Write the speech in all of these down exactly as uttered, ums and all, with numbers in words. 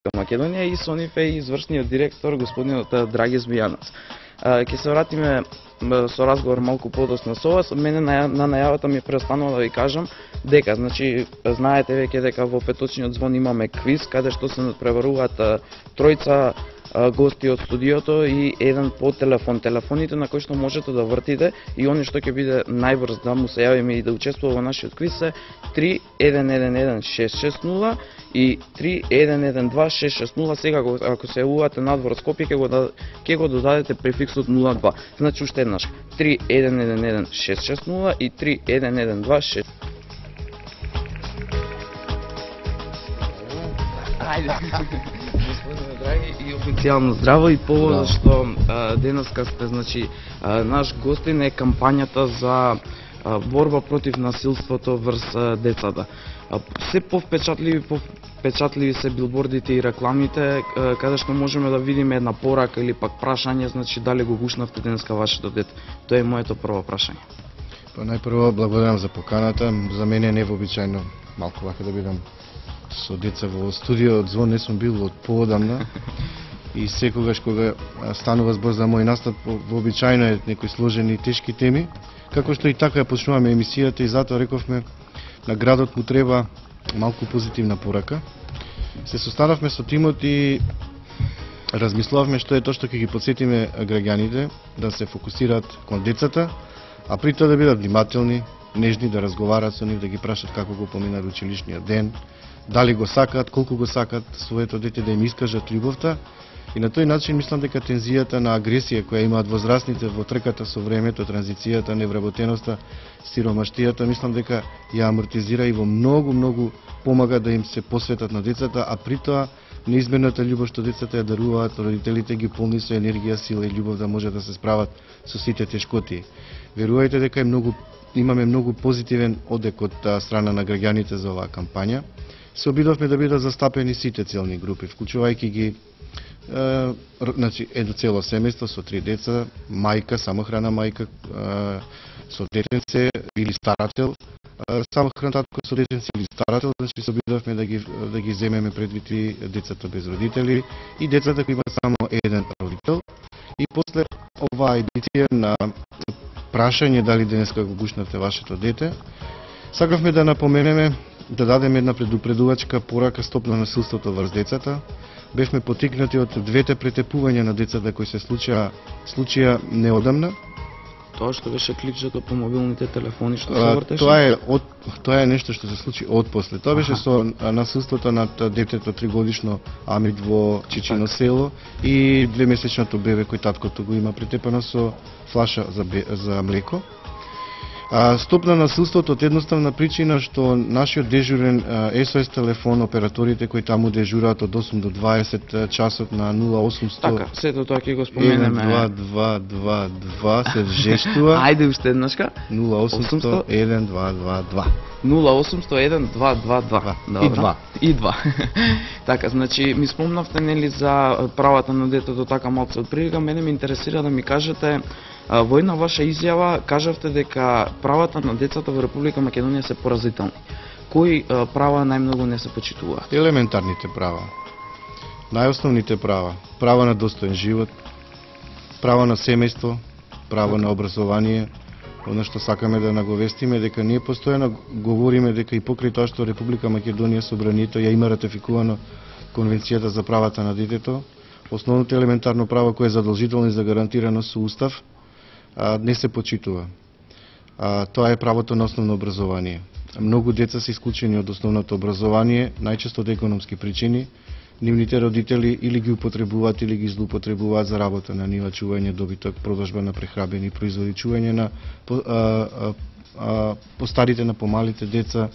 Македонија и со нив е извршниот директор господинот Драги Змијанец. Ќе се вратиме со разговор малку подоцна со вас. Мене на, на најавата ми преостанува да ви кажам дека, значи, знаете веќе дека во петочниот звон имаме квиз, каде што се надпреваруваат тројца гости од студиото и еден по телефон. Телефоните на кои што можете да вртите и оној што ќе биде најбрз да му се јавиме и да учествува во нашиот квиз се три еден еден еден шест шест нула и три еден еден два шест шест нула. Сега ако се јавувате надвор од Скопје ќе го ќе го додадете префиксот нула два. Значи уште еднаш три еден еден еден шест шест нула и три еден еден два шест. Ајде. Господине драги и официјално здраво и повод што денеска сте, значи, а, наш гостин е кампањата за а, борба против насилството врз а, децата. А, се повпечатливи, повпечатливи се билбордите и рекламите, а, каде што можеме да видиме една порака или пак прашање, значи дали го гушнавте денеска вашето дете. Тоа е моето прво прашање. Па најпрво благодарам за поканата. За мене е невообичаено малку вака да бидам со деца во студио. Од звон не сум бил од поодамна и секогаш кога станува збор за мој настап, вообичаено е некои сложени и тешки теми, како што и така ја почнуваме емисијата и затоа рековме на градот му треба малку позитивна порака. Се состанавме со тимот и размислувавме што е тоа што ќе ги подсетиме граѓаните да се фокусираат кон децата, а при тоа да бидат внимателни, нежни, да разговараат со нив, да ги прашат како го поминаа училишниот ден, дали го сакаат, колку го сакаат своето дете, да им искажат љубовта. И на тој начин мислам дека тензијата на агресија која имаат возрастните во трката со времето, транзицијата, невработеноста, сиромаштијата, мислам дека ја амортизира и во многу, многу помага да им се посветат на децата, а при тоа неизмената љубов што децата ја даруваат, родителите ги полни со енергија, сила и љубов да може да се справат со сите тешкоти. Верувајте дека е многу, имаме многу позитивен одек од страна на граѓаните за оваа кампања. Се обидовме да бидат застапени сите целни групи, вклучувајќи ги е, значи, едно цело семејство со три деца, мајка, самохрана мајка е, со детенце или старател, е, самохран татко со детенце или старател, значи се обидовме да ги, да ги земеме предвид и децата без родители и децата кои имаат само еден родител. И после оваа едиција на прашање дали денеска го гушнавте вашето дете, сакавме да напоменеме, да дадеме една предупредувачка порака стоп на насилството врз децата. Бевме потикнати од двете претепувања на децата кои се случија, случија неодамна. Тоа што беше кликчето по мобилните телефони што се А, вртеше? Тоа е од тоа е нешто што се случи отпосле. Тоа беше со насилството над детето тригодишно Амид во Чичино село и двемесечното бебе кој таткото го има претепано со флаша за, бе, за млеко. А, стоп на насилството од едноставна причина што нашиот дежурен ес о ес телефон, операторите кои таму дежураат од осум до дваесет часот на нула осумсто Така, сето тоа ќе го споменеме. еден два два два два се жештува. Ајде уште еднашка. нула осумсто еден два два два. нула осумсто еден два два два. И два. И два. Така, значи ми спомнавте нели за правата на детето така малку од прилика, мене ме интересира да ми кажете во една ваша изјава кажавте дека правата на децата во Република Македонија се поразителни. Кои права најмногу не се почитуваат? Елементарните права. Најосновните права. Право на достоен живот, право на семејство, право на образование. Оно што сакаме да наговестиме дека ние постојано говориме дека и покрај тоа што Република Македонија собранието ја има ратификувано Конвенцијата за правата на детето, основното елементарно право кое е задолжително и загарантирано со устав, а, не се почитува. А, тоа е правото на основно образование. Многу деца се исклучени од основното образование, најчесто од економски причини. Нивните родители или ги употребуваат или ги злоупотребуваат за работа на нива, чување добиток, продажба на прехрабени производи, чување на по, а, а, а, постарите на помалите деца.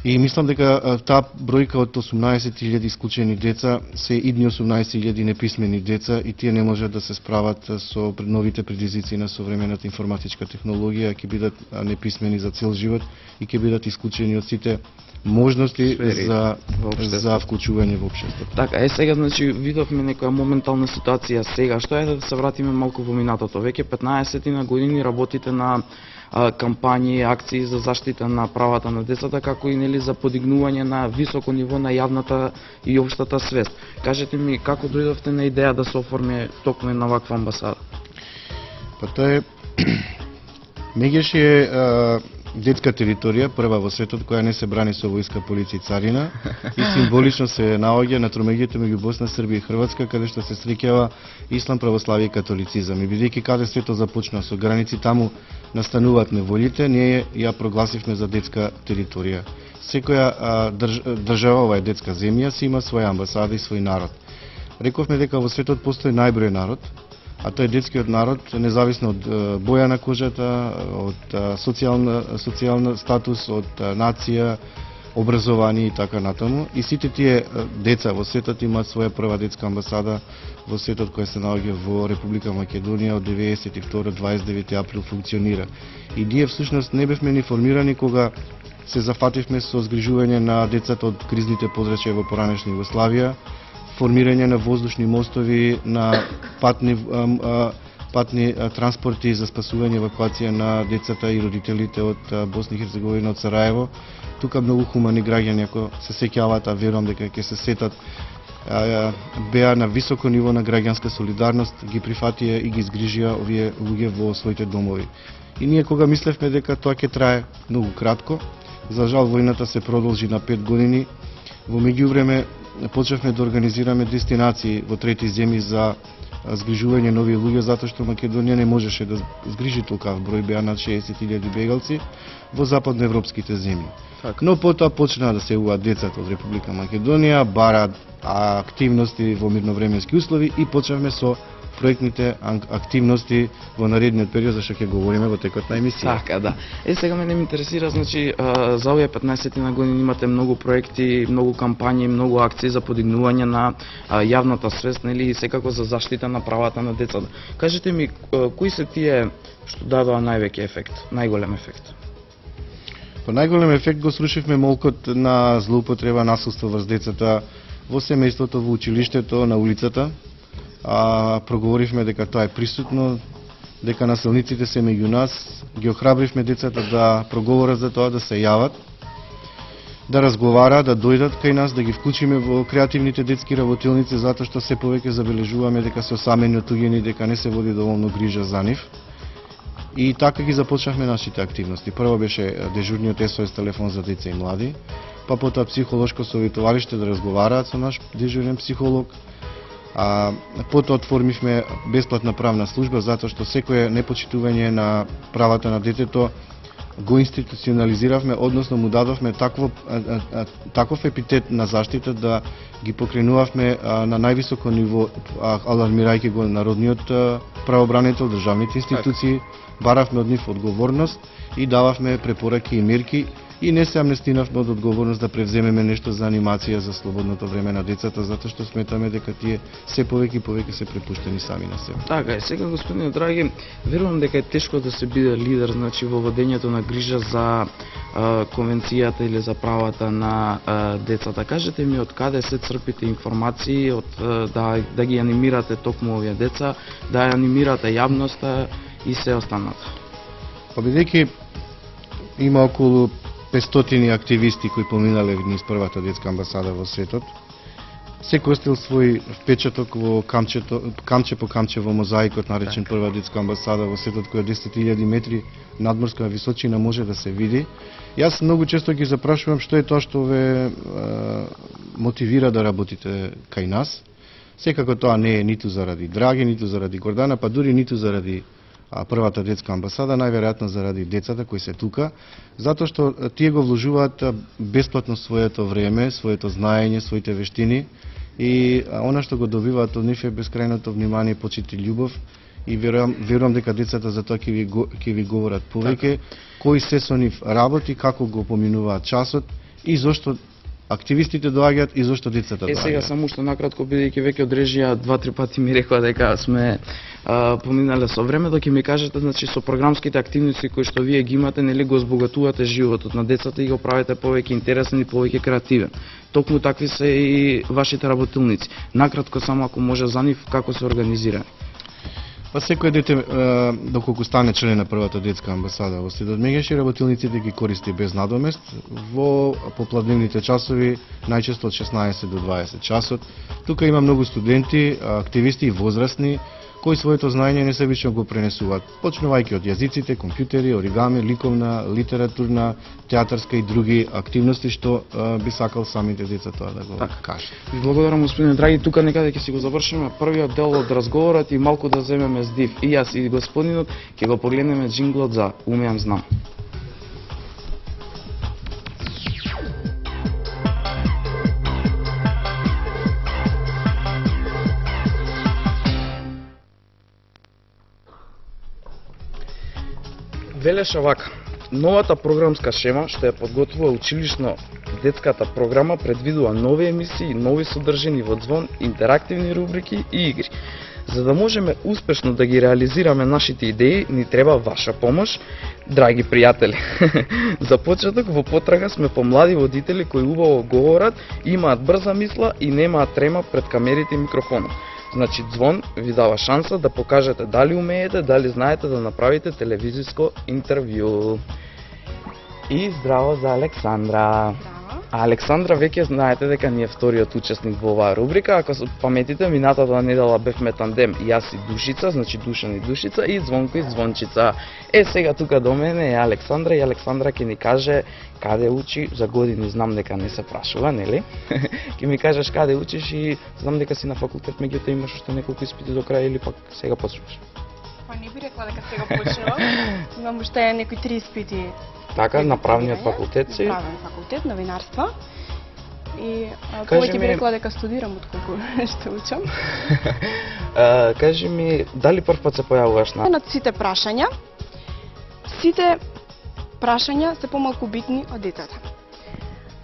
И мислам дека таа бројка од осумнаесет илјади исклучени деца се идни осумнаесет илјади неписмени деца и тие не можат да се справат со новите предизвици на современата информатичка технологија, ќе бидат неписмени за цел живот и ќе бидат исклучени од сите можности Сфери, за за вклучување во општеството. Така, е сега значи видовме некоја моментална ситуација сега, што е да се вратиме малку во минатото. Веќе петнаесет на години работите на а, кампањи, акции за заштита на правата на децата, како и нели за подигнување на високо ниво на јавната и општата свест. Кажете ми како дојдовте на идеја да се оформи токму една ваква амбасада? Па тоа е Мегеш е а, детска територија, прва во светот која не се брани со војска, полиција и царина и символично се наоѓа на тромеѓето меѓу Босна, Србија и Хрватска, каде што се среќава ислам, православие и католицизам. И бидејќи каде светот започна со граници, таму настануваат неволите, ние ја прогласивме за детска територија. Секоја а, држ, држава, ова е детска земја, си има своја амбасада и свој народ. Рековме дека во светот постои најброј народ, а тој е детскиот народ, независно од боја на кожата, од социјална, социјална статус, од нација, образование и така натаму. И сите тие деца во светот имаат своја прва детска амбасада во светот која се наоѓа во Република Македонија од деветдесет и втора до дваесет и девети април функционира. И ние всушност не бевме ни формирани кога се зафативме со згрижување на децата од кризните подрачја во поранешна Југославија, формирање на воздушни мостови, на патни, а, а, патни а, транспорти за спасување евакуација на децата и родителите од а, Босна и Херцеговина, од Сараево. Тука многу хумани граѓани, ако се сеќаваат, а верувам дека ќе се сетат, а, а, беа на високо ниво на граѓанска солидарност, ги прифатија и ги згрижија овие луѓе во своите домови. И ние кога мислевме дека тоа ќе трае многу кратко, за жал војната се продолжи на пет години. Во меѓувреме почнавме да организираме дестинации во трети земји за згрижување на овие луѓе, затоа што Македонија не можеше да згрижи толкав број, беа над шеесет илјади бегалци во западноевропските земји. Так. Но потоа почнаа да се јавуваат децата од Република Македонија, бараат активности во мирновременски услови и почнавме со проектните активности во наредниот период, за што ќе говориме во текот на емисија. Така, да. Е, сега мене ме интересира, значи, за овие петнаесет на години имате многу проекти, многу кампањи, многу акции за подигнување на јавната свест, нели, и секако за заштита на правата на децата. Кажете ми, кои се тие што дадоа највеќе ефект, најголем ефект? По најголем ефект го срушивме молкот на злоупотреба, насилство врз децата во семејството, во училиштето, на улицата. А, проговоривме дека тоа е присутно, дека насилниците се меѓу нас, ги охрабривме децата да проговорат за тоа, да се јават, да разговараат, да дојдат кај нас, да ги вклучиме во креативните детски работилници, затоа што се повеќе забележуваме дека се осамени, отуѓени, дека не се води доволно грижа за нив. И така ги започнавме нашите активности. Прво беше дежурниот ес о ес телефон за деца и млади, па потоа психолошко советувалиште да разговараат со наш дежурен психолог. А, потоа отформивме бесплатна правна служба, затоа што секое непочитување на правата на детето го институционализиравме, односно му дадовме такво, а, а, таков епитет на заштита да ги покренувавме а, на највисоко ниво, а, алармирајќи го народниот а, правобранител, државните институции, баравме од нив одговорност и дававме препораки и мерки. И не се амнестинавме од одговорност да превземеме нешто за анимација за слободното време на децата, затоа што сметаме дека тие се повеќе и повеќе се препуштени сами на себе. Така е, сега господине драги, верувам дека е тешко да се биде лидер, значи во водењето на грижа за а, конвенцијата или за правата на а, децата. Кажете ми од каде се црпите информации, од а, да да ги анимирате токму овие деца, да ја анимирате јавноста и се останато. Па бидејќи има околу петстотини активисти кои поминале низ првата детска амбасада во светот, секој остил свој впечаток во камчето, камче по камче во мозаикот наречен прва детска амбасада во светот, која десет илјади метри надморска височина може да се види. Јас многу често ги запрашувам што е тоа што ве е, мотивира да работите кај нас. Секако тоа не е ниту заради Драги, ниту заради Гордана, па дури ниту заради а првата детска амбасада, најверојатно заради децата кои се тука, затоа што тие го вложуваат бесплатно своето време, своето знаење, своите вештини и она што го добиваат од нив е бескрајното внимание, почит и љубов и верувам, верувам дека децата за тоа ќе ви, ќе ви говорат повеќе, кои се со нив работи, како го поминуваат часот и зошто активистите доаѓаат и зошто децата доаѓаат. Е, сега само што накратко, бидејќи веќе од режија два-три пати ми рекоа дека сме а, поминале со времето, ќе ми кажете, значи, со програмските активности кои што вие ги имате, нели го збогатувате животот на децата и го правите повеќе интересен и повеќе креативен. Токму такви се и вашите работилници. Накратко само ако може за нив, како се организирани? Па секој дете, е, доколку стане член на првата детска амбасада во Стидот Мегеш, работилниците ги користи без надомест во попладневните часови, најчесто од шеснаесет до дваесет часот. Тука има многу студенти, активисти и возрастни, кои своето знаење несебично го пренесуваат, почнувајќи од јазиците, компјутери, оригами, ликовна, литературна, театарска и други активности што а, би сакал самите деца тоа да го Така. кажат. Ви благодарам, господине драги, тука некаде ќе си го завршиме првиот дел од разговорот и малку да земеме здив. И јас и господинот ќе го погледнеме джинглот за Умеам знам. Велеше вака: новата програмска шема што ја подготвува училишно детската програма предвидува нови емисии, нови содржини во Звон, интерактивни рубрики и игри. За да можеме успешно да ги реализираме нашите идеи, ни треба ваша помош, драги пријатели. За почеток, во потрага сме по млади водители кои убаво говорат, имаат брза мисла и немаат трема пред камерите и микрофонот. Значи, Звон ви дава шанса да покажете дали умеете, дали знаете да направите телевизиско интервју. И здраво за Александра. А Александра веќе знаете дека ни е вториот учесник во оваа рубрика. Ако се паметите, минатата недела бевме тандем јас и Душица, значи Душан и Душица, и Звонко и Звончица. Е, сега тука до мене е Александра и Александра ќе ни каже каде учи, за години знам дека не се прашува, нели? Ќе ми кажеш каде учиш и знам дека си на факултет, меѓутоа имаш уште неколку испити до крај или пак сега почнуваш? Па не би рекла дека сега почнувам. Имам уште некои три испити. Така, на правниот факултет си? Правен факултет, новинарство. И а, Кажи повеќе би ми- рекла дека студирам отколку што учам. А, кажи ми, дали прв пат се појавуваш на... На сите прашања, сите прашања се помалку битни од детето.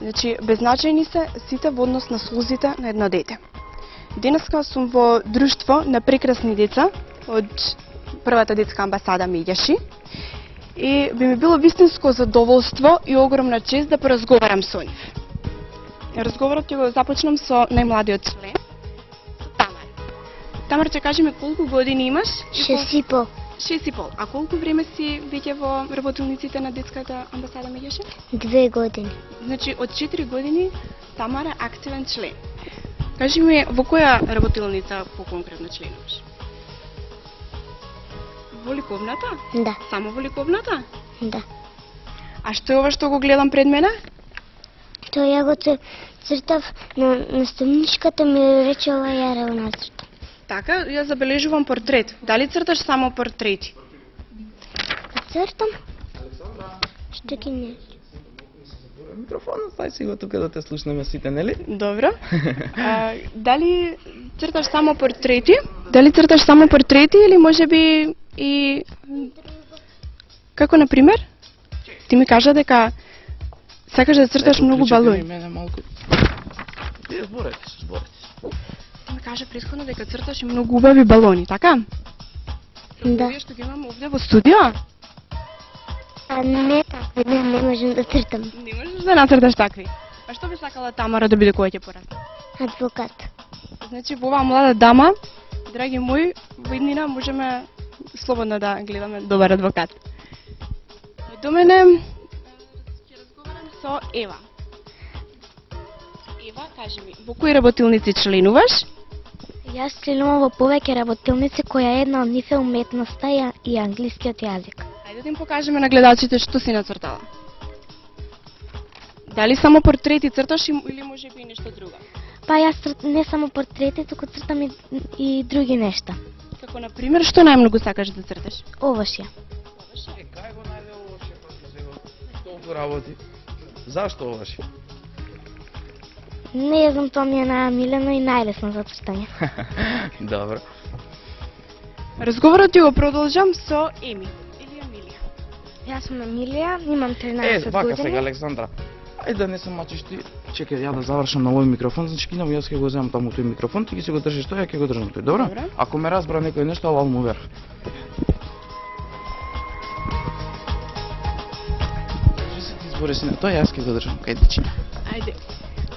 Значи, беззначајни се сите во однос на слузите на едно дете. Денеска сум во друштво на прекрасни деца од првата детска амбасада Меѓаши и би ми било вистинско задоволство и огромна чест да поразговарам со нив. Разговорот ќе го започнам со најмладиот член, со Тамар. Тамар, ќе кажи ми колку години имаш? И кол- Шест и пол. Шест и пол. А колку време си веќе во работилниците на детската амбасада Меѓаши? Две години. Значи, од четири години Тамара е активен член. Кажи ми, во која работилница по-конкретно членуваш? Во ликовната? Да, Само во ликовната? да. А што е ова што го гледам пред мене? Тоа ја го ц- цртав на наставничката ми рече ова ја рео нацрта. Така, ја забележувам портрет. Дали црташ само портрети? Па цртам? Што ќе не? Микрофонот, стај си го тука да те слушнеме сите, нели? Добро. А, дали црташ само портрети? Дали црташ само портрети или можеби и... Како, например? Ти ми кажа дека сакаш да црташ Ето, многу клучете ми балони. мене малку. Вие зборете се, зборете се. Ти ми кажа претходно дека црташ и многу убави балони, така? Да. Овие што ги имам овде во студио, А не така, не, не можам да цртам. не можеш да нацрташ такви. А што би сакала Тамара да биде кога ќе порасне? Адвокат. Значи, во оваа млада дама, драги мои, во иднина можеме слободно да гледаме добар адвокат. До мене ќе разговарам со Ева. Ева, кажи ми, во кои работилници членуваш? Јас членувам во повеќе работилници која една од нив е уметноста и, а- и англискиот јазик. Ајде да им покажеме на гледачите што си нацртала. Дали само портрети црташ им- или може би и нешто друго? Па јас црт, не само портрети, туку цртам и, и други нешта. Како на пример, што најмногу сакаш да црташ? Овошја. Е, кај го најде ова шефот за сега? Толку работи. Зашто ова шеф? Не ја знам, тоа ми е најмилено и најлесно за цртање. Добро. Разговорот ќе го продолжам со Еми или Емилија. Јас сум Емилија, имам Е, тринаесет вака години. сега, Александра. Ајде да не се мачиш ти. Чекај, ја да завршам на овој микрофон, значи кинам јас ќе го земам таму тој микрофон, ти ќе се го држиш тој, ја ќе го држам тој, добро? Добро. Ако ме разбра некој нешто, алал му верх. Држи се ти збори си на тој, јас ќе го држам, кај дичи. Ајде.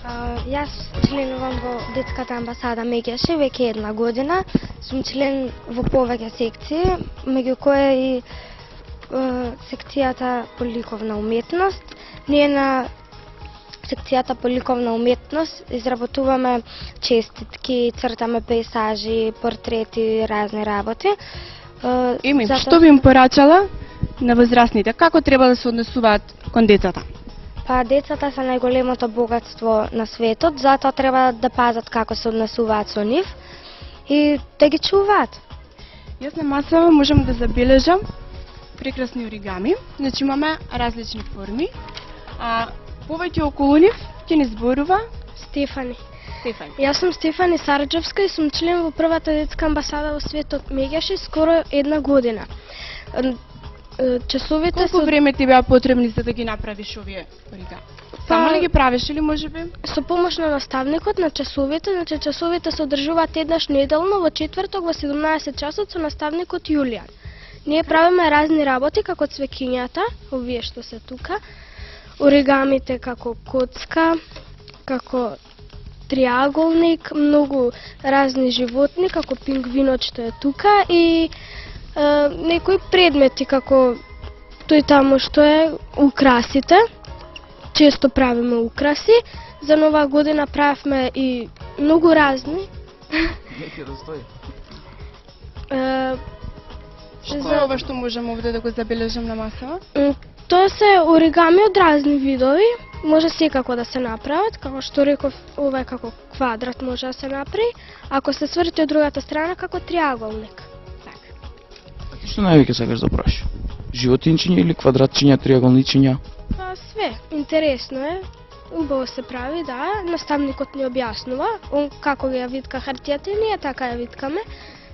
А, А, јас членувам во детската амбасада Меѓаши веќе една година. Сум член во повеќе секции, меѓу кои и е, секцијата по ликовна уметност. Ние на секцијата по ликовна уметност изработуваме честитки, цртаме пейсажи, портрети, разни работи. Е, Еми, затоа- што би им порачала на возрастните? Како треба да се однесуваат кон децата? Па децата се најголемото богатство на светот, затоа треба да пазат како се однесуваат со нив и да ги чуваат. Јас на масава можам да забележам прекрасни оригами. Значи имаме различни форми. А повеќе околу нив ќе ни зборува Стефани. Стефани. Јас сум Стефани Сарджевска и сум член во првата детска амбасада во светот Меѓаши скоро една година. Н- е, Часовите Колку се време ти беа потребни за да ги направиш овие оригами? Само Па- ли ги правиш или можеби? со помош на наставникот на часовите, значи часовите се одржуваат еднаш неделно во четврток во седумнаесет часот со наставникот Јулијан. Ние правиме разни работи како цвеќињата, овие што се тука, оригамите како коцка, како триаголник, многу разни животни како пингвинот што е тука и е, некои предмети како тој таму што е украсите. Често правиме украси. За нова година правевме и многу разни. Нека да стои. Е, Што за- е ова што можеме овде да го забележам на масава? м, Тоа се оригами од разни видови. Може секако да се направат, како што реков, ова е како квадрат може да се направи, ако се сврти од другата страна како триаголник. Ти што највеќе сакаш да прашаш? Животинчиња или квадратчиња, триаголничиња? Па све, интересно е. Убаво се прави, да. Наставникот ни објаснува он како ги ја витка хартијата и ние така ја виткаме,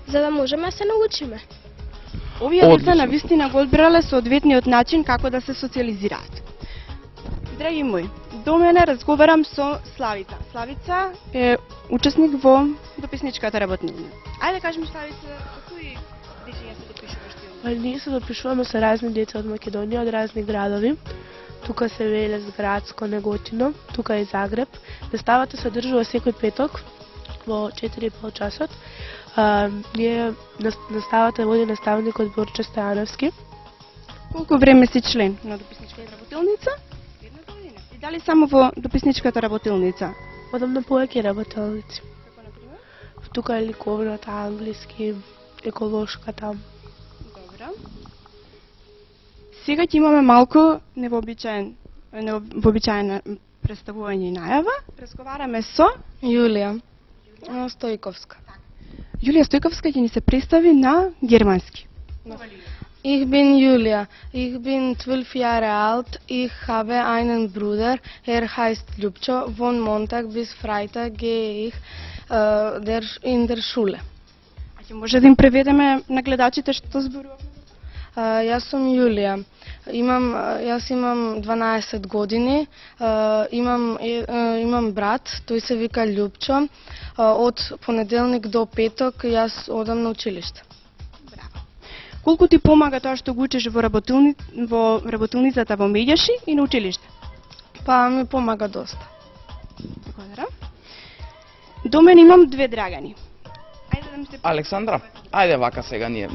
за да можеме да се научиме. Овие деца Одлично. на вистина го одбрале соодветниот начин како да се социализираат. Драги мои, до мене разговарам со Славица. Славица е учесник во дописничката работнина. Ајде кажем Славица, кои дечиња се допишуваш ти? Па ние се допишуваме со разни деца од Македонија, од разни градови. Тука се Велес, Градско, Неготино, тука е Загреб. Наставата се одржува секој петок во четири и пол часот. А, ние нас- наставата води наставникот Борче Стојановски. Колку време си член на дописничката работилница? Една година. И дали само во дописничката работилница? Одам на повеќе работелници. Како на пример? Тука е ликовната, англиски, еколошката. Добро. Сега ќе имаме малку невообичаен, невообичаено представување и најава. Разговараме со Јулија Стојковска. Јулија Стојковска ќе ни се представи на германски. Ich bin Julia. Ich bin zwölf Jahre alt. Ich habe einen Bruder. Er heißt Ljubčo. Von Montag bis Freitag gehe ich äh, der, in der Schule. А ќе може да им преведеме на гледачите што зборуваме? Äh, јас сум Јулија. Имам, јас имам дванаесет години. Äh, имам, е, е, имам брат, тој се вика Ljubčo. Äh, од понеделник до петок јас одам на училиште. Колку ти помага тоа што го учиш во работилни во работилницата во Меѓаши и на училиште? Па ми помага доста. Благодарам. До мене имам две Драгани. Ајде да ми се Александра, ајде вака сега ние.